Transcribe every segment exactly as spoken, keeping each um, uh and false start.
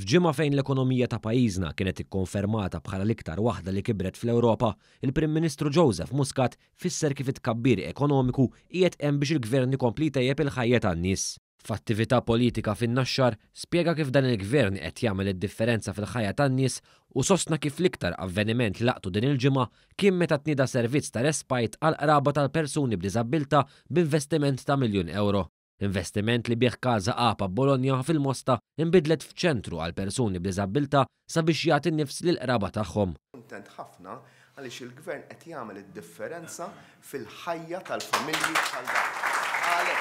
F'ġimgħa fejn l-ekonomija ta' pajjiżna kienet ikkonfermata bħala l-iktar waħda li kibret fl-Ewropa, il-Prim Ministru Joseph Muscat fisser kif it-tkabbir ekonomiku qiegħed hemm biex il-gvern ikompli jtejjeb il-ħajja tan-nies. F'attività politika fin-Naxxar spjega kif dan il-gvern qed jagħmel id-differenza fil-ħajja tan-nies u sostna kif l-iktar avveniment li laqtu din il-ġimgħa kien meta tnieda servizz ta' respite għal qraba tal-persuni b'diżabbiltà b'investiment ta' miljun euro. Investiment li bih Casa Apa Bologna fil-Mosta inbidlet f'ċentru għal persuni b'diżabbiltà sabiex jagħti nifs lill-qraba tagħhom. Kuntent ħafna għaliex il-gvern qed jagħmel id-differenza fil-ħajja tal-familji bħal dawn.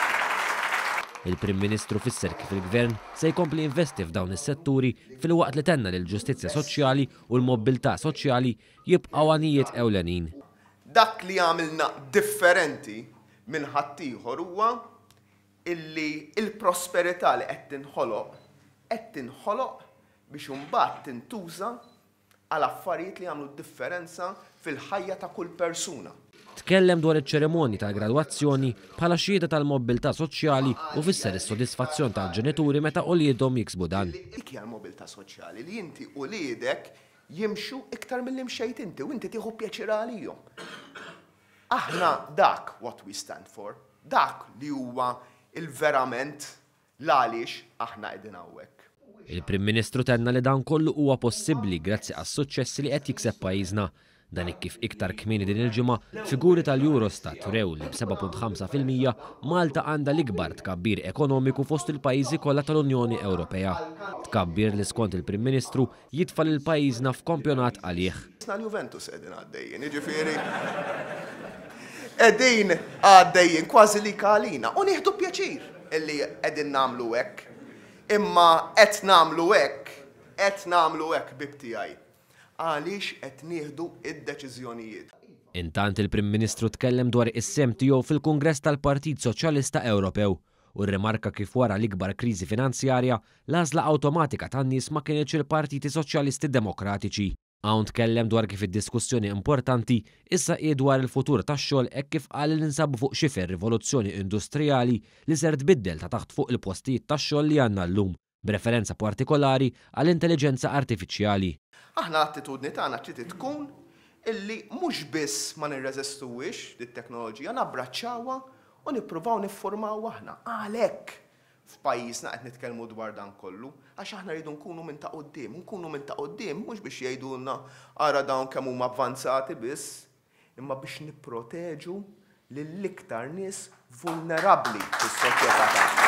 Il-Prim Ministru fisser kif il-Gvern se jkompli investi f'dawn is-setturi filwaqt li tenna li l-ġustizzja soċjali u l-mobbiltà soċjali jibqgħu għanijiet ewlenin. Dak li għamilna differenti minn ħaddieħor huwa illi il-prosperità li qed tinħoloq qed tinħoloq biex imbagħad tintuża għal affarijiet li jagħmlu differenza fil-ħajja ta' kull persuna. Tkellem dwar iċ-ċerimonji tal-gradwazzjoni bħala xhieda tal-mobbiltà soċjali u fisser is-sodisfazzjon tal-ġenituri meta uliedhom jiksbu dan. Dik hija l-mobilità soċjali li inti uliedek jimxu iktar milli mxejt inti u inti tieħu pjaċir għalihom. Aħna dak what we stand for, dak li huwa il-verament l-għaliex aħna qegħdin hawnhekk. Il-Prim Ministru tenna li dan kollu huwa possibbli grazzi għas-suċċessi li qed jikseb pajjiżna. Dan kif iktar kmieni din il-ġimgħa figuri tal-Eurostat rew li b'seba' punt ħamsa fil-mija Malta għandha l-ikbar tkabbir ekonomiku fost il-pajjiżi kollha tal-Unjoni Ewropea. Tkabbir li skont il-Prim Ministru jitfa' lil pajjiżna f'kampjonat għalih. Isna l-Juventus qegħdin għaddejjin, jiġifieri qegħdin għaddejjin kważi li kalina u nieħdu pjaċir illi qegħdin nagħmlu hekk. Imma qed nagħmlu hekk, qed nagħmlu hekk bib tiegħi. Għaliex qed nieħdu id-deċiżjonijiet. Intant il-Prim Ministru tkellem dwar is-sehem tiegħu fil-Kungress tal-Partit Soċjalista Ewropew u rrimarka kif wara l-ikbar kriżi finanzjarja l-għażla awtomatika tan-nies ma kienx il-Partiti Soċjalisti Demokratiċi. Hawn tkellem dwar kif id-diskussjoni importanti issa hi dwar il-futur tax-xogħol hekk kif qal li ninsabu fuq xifer rivoluzzjoni industrijali li ser tbiddel ta' taħt fuq il-postijiet tax-xogħol li għandna llum, b'referenza partikolari għall-intelligenza artifiċjali. Aħna l-attitudni tagħna trid tkun illi mhux biss ma nirreżistuwix dit-teknoloġija, nabbraċċawha u nippruvaw niffurmaw aħna. Għalhekk f'pajjiżna qed nitkellmu dwar dan kollu, għax aħna rridu nkunu minn ta' quddiem, nkunu minn ta' quddiem mhux biex jgħidulna ara dawn kemm huma avvanzati biss, imma biex nipproteġu lill-iktar nies vulnerabbli fis-soċjetà tagħna.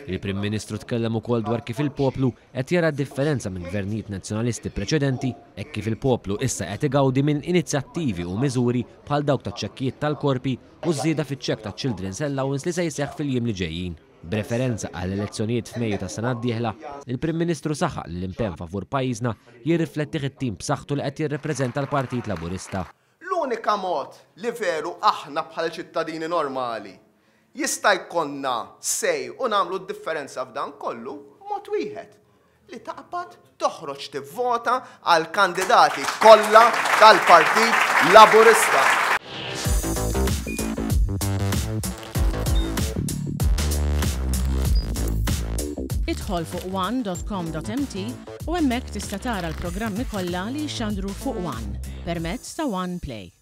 Il-Prim Ministru tkellem ukoll dwar kif il-poplu qed jara differenza minn gvernijiet nazzjonalisti preċedenti hekk kif il-poplu issa qed igawdi minn inizjattivi u miżuri bħal dawk taċ-ċekkijiet tal-korpi u żieda fiċ-ċekk ta' Children's Allowance li se jseħħ fil-jiem li ġejjin. B'referenza għall elezzjonijiet f'Mejju tas-sena d-dieħla, il-Prim Ministru saħaq li l-impenn favur pajjiżna jirriflettih it-tim b'saħħtu li qed jirrepreżenta l-Partit Laburista. L-unika mod li veru aħna bħal ċittadini normali jista' jkollna sej u nagħmlu d-differenza f'dan kollu mod wieħed li taqbad toħroġ tivvota għal kandidati kollha tal-Partit Laburista. Idħol fuq one dot com dot m t u hemmhekk tista' tara l-programmi kollha li jxandru fuq One permezz ta' One Play.